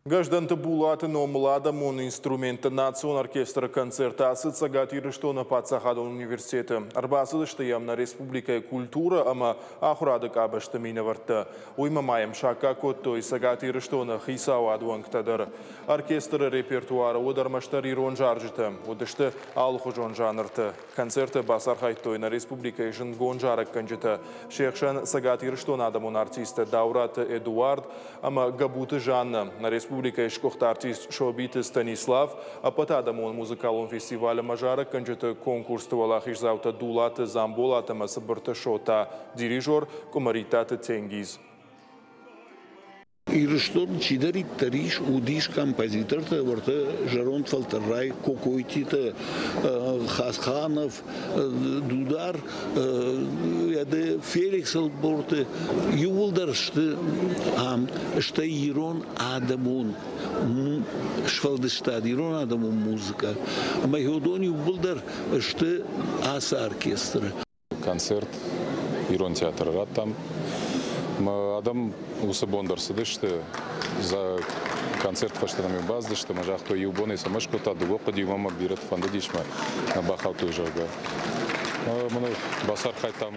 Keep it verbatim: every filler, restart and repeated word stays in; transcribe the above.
Гӕздӕнты Булаты номыл адӕмон инструментты национ оркестры концерт ацыд Цӕгат Ирыстоны паддзахадон университеты. Ӕрбацыдысты йӕм нӕ республикӕйы культурӕ ӕмӕ ахуырады къабӕзты минӕвӕрттӕ. Уыимӕ ма йӕм саккаг кодтой Цӕгат Ирыстоны хицауады уӕнгтӕ дӕр. Оркестры репертуары уыд ӕрмӕстдӕр ирон зарджытӕ. Уыдысты алыхуызон жанрты. Концерты бацархайдтой нӕ республикӕйы зындгонд зарӕггӕнджытӕ. Се хсӕн Цӕгат Ирыстоны адӕмон артисттӕ Дауыраты Эдуард ӕмӕ Гӕбуты Жаннӕ, нӕ республикӕйы сгуыхт артист Собиты Станислав, ӕппӕтадӕмон музыкалон фестиваль ӕмӕ зарӕггӕнджыты конкурсты уӕлахиздзаутӕ Дулаты Дзамболат ӕмӕ Цыбырты Шота, дирижер Къуымӕриттаты Тенгиз. Ирыстон чидӕриддӕр ис, уыдис композитортӕ, уӕртӕ зӕронд фӕлтӕрӕй Кокойтитӕ, Хасханов, Дудар, Феликс Ӕлборты, иууылдӕр сты ам, стӕй ирон адӕмон сфӕлдыстад, ирон адӕмон музыкӕ. Ӕмӕ уыдон иууылдӕр сты ацы оркестры. Концерт ирон театры радтам. Адӕм уыцы бон дӕр цыдысты, за концерт фӕстӕ нӕм бацыдысты ӕмӕ загътой, иу бонӕй сӕ скодта, дыууӕ хъуыди, уымӕ бирӕты фӕндыдис мӕ нӕ бахаудтой, зӕгъгӕ. Мын бацархайдтам.